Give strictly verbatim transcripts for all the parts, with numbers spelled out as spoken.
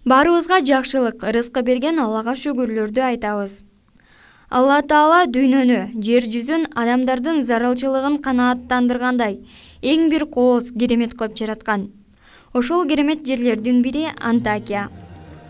Баарыбызга жакшылык, рызкы берген Аллага шүгүрлөрдү айтабыз. Алла Таала дүйнөнү, жер жүзүн адамдардын зарылчылыгын канааттандыргандай эң бир кооз керемет кылып жараткан. Ошол керемет жерлердин бири Антакия.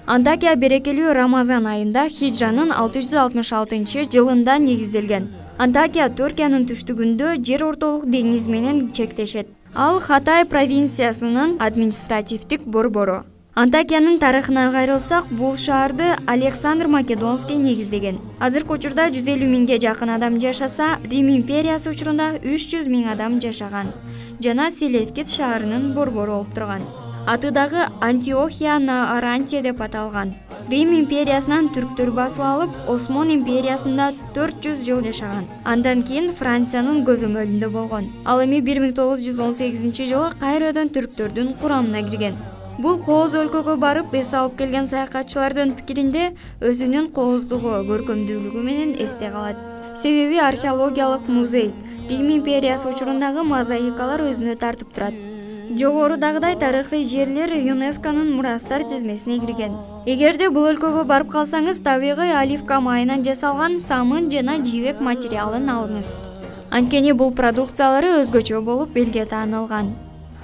Антакия берекелүү Рамазан айында хижранын алты жүз алтымыш алтынчы жылында негизделген. Антакия Түркиянын түштүгүндө жер ортолук деңиз менен чектешет. Ал Хатай провинциясынын административдик борбору. Антакиянын тарыхына кайрылсак, бул шаарды Александр Македонский негиздеген. Азыркы учурда жүз элүү миңге жакын адам жашаса, Рим империясы учурунда үч жүз миң адам жашаган жана Селевкид шаарынын борбору болуп турган. Аты дагы Антиохия на Арантия деп аталган. Рим империясынан түрктөр басып алып, Осмон империясында төрт жүз жыл жашаган. Андан кийин Франциянын көзөмөлүндө болгон. Ал эми бир миң тогуз жүз он сегизинчи жылы кайрадан түрктөрдүн курамына кирген. Бул кооз өлкөгө барып эс алып келген саякатчылардын пикиринде өзүнүн кооздугу, көркөмдүүлүгү менен эсте калат. Себеби археологиялык музей, Рим империясы учурундагы мозаикалар өзүнө тартып турат. Жогорудагыдай тарыхый жерлер ЮНЕСКОнун мурастар тизмесине кирген. Эгерде бул өлкөгө барып калсаңыз, табигый оливка майынан жасалган самын жана жибек материалын алыңыз. Анткени бул продукциялары өзгөчө болуп элге таанылган.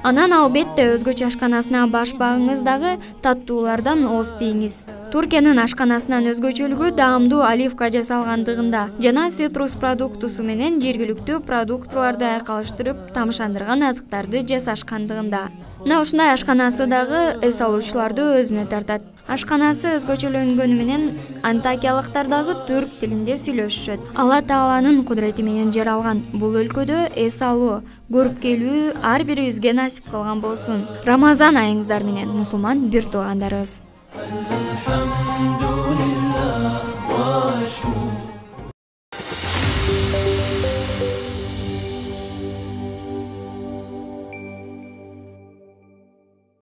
Анан албетте өзгөчө ашканасына баш багыңыздагы таттуулардан ооз тийиңиз. Түркиянын ашканасынан өзгөчөлүгү даамдуу оливка жасалгандыгында жана цитрус продуктусу менен жергиликтүү продуктыларды айкалыштырып тамшандырган азыктарды жасашкандыгында. Мына ушундай ашканасы дагы эс алуучуларды өзүнө тартат. Ашканасы өзгөчөлөнгөнү менен антакиялыктар дагы түрк тилинде сүйлөшүшөт. Алла Тааланын кудурети менен жаралган бул өлкөдө эс алуу, көрүп келүү ар бирибизге насип кылган болсун. Рамазан айыңыздар менен, мусулман бир туугандарыбыз.